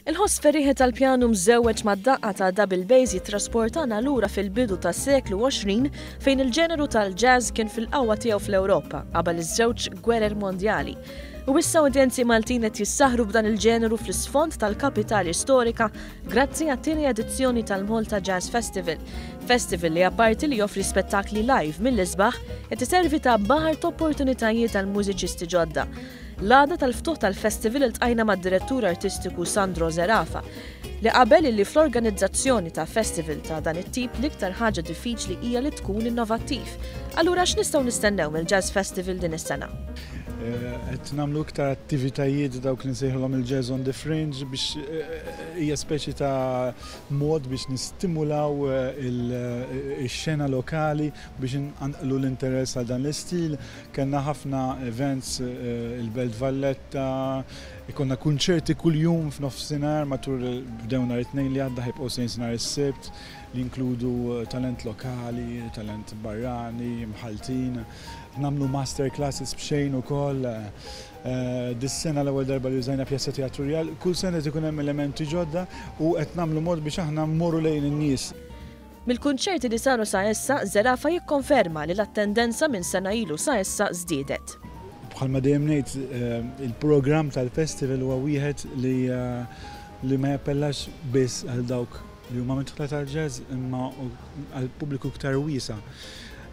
Il-ħoss ferrieħi tal-pjanu mżewweġ mad-daqqa ta' double bass jittrasportana lura fil-bidu tas-seklu 20 fejn il-ġeneru tal-jazz kien fil-qawwa tiegħu fl-Ewropa qabel iż-żewġ gwerer mondjali. U issa udjenzi Maltin qed jissaħru b'dan il-ġeneru fl-isfond tal-kapitali storika grazzi għat-tieni edizzjoni tal-Malta Jazz Festival. Festival li apparti li joffri spettakli live mill-isbaħ qed iservi ta' baħar t'opportunitajiet għal mużiċisti ġodda. L-għada tal-ftuħ tal-festival iltqajna mad-Direttur Artistiku Sandro Zerafa, li qabel illi fl-organizzazzjoni ta' festival ta' dan it-tip l-iktar ħaġa diffiċli hija li tkun innovattiv. Allura x'nistgħu nistennew mill-Jazz Festival din is-sena? Qed nagħmlu iktar attivitajiet dawk li nsejħulhom il-Jazz on the Fringe biex hija speċi ta' mod biex nistimulaw ix-xena lokali biex inqanqlu l-interess għal dan l-istil. Kellna ħafna events il-Belt Valletta, ikollna kunċerti kuljum f'nofsinhar matul bdew nhar it-Tnejn li għadda ħa jibqgħu sejrin nhar is-Sibt li jinkludu talent lokali, talent barrani, mħalltin. Nagħmlu master classes b'xejn ukoll. Dis-sena l-ewwel darba li użajna Pjazza Teatru Rjal. Kull sena qed ikun hemm elementi ġodda u qed nagħmlu mod biex aħna mmorru lejn in-nies. Mill-kunċerti li saru sa issa, Zerafa jikkonferma li l-attendenza minn sena ilu sa issa żdiedet. Bħalma dejjem ngħid, il-programm tal-festival huwa wieħed li li ma jappellax biss għal dawk li huma midħla tal-jazz imma għal pubbliku iktar wiesa'.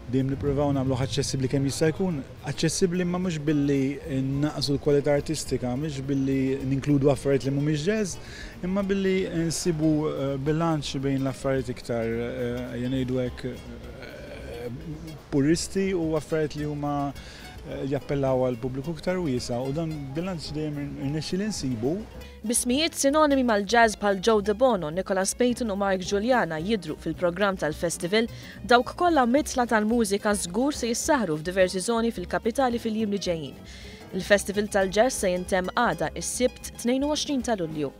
Dejjem nippruvaw nagħmluh aċċessibbli kemm jista' jkun, aċċessibbli imma mhux billi nnaqqsu l-kwalità artistika, mhux billi ninkludu affarijiet li mhumiex jazz, imma billi nsibu bilanċ bejn l-affarijiet iktar ejja ngħidu hekk puristi u affarijiet li huma jappellaw għal pubbliku iktar wiesa' u dan bilanċ dejjem irnexxieli nsibu. B'ismijiet sinonimi mal-jazz bħal Joe Debono, Nicholas Payton u Mark Guiliana jidhru fil-programm tal-festival, dawk kollha midħla tal-mużika żgur se jissaħħru f'diversi żoni fil-kapitali fil-jiem li ġejjin. Il-festival tal-jazz se jintemm għada, is-Sibt 22 ta' Lulju.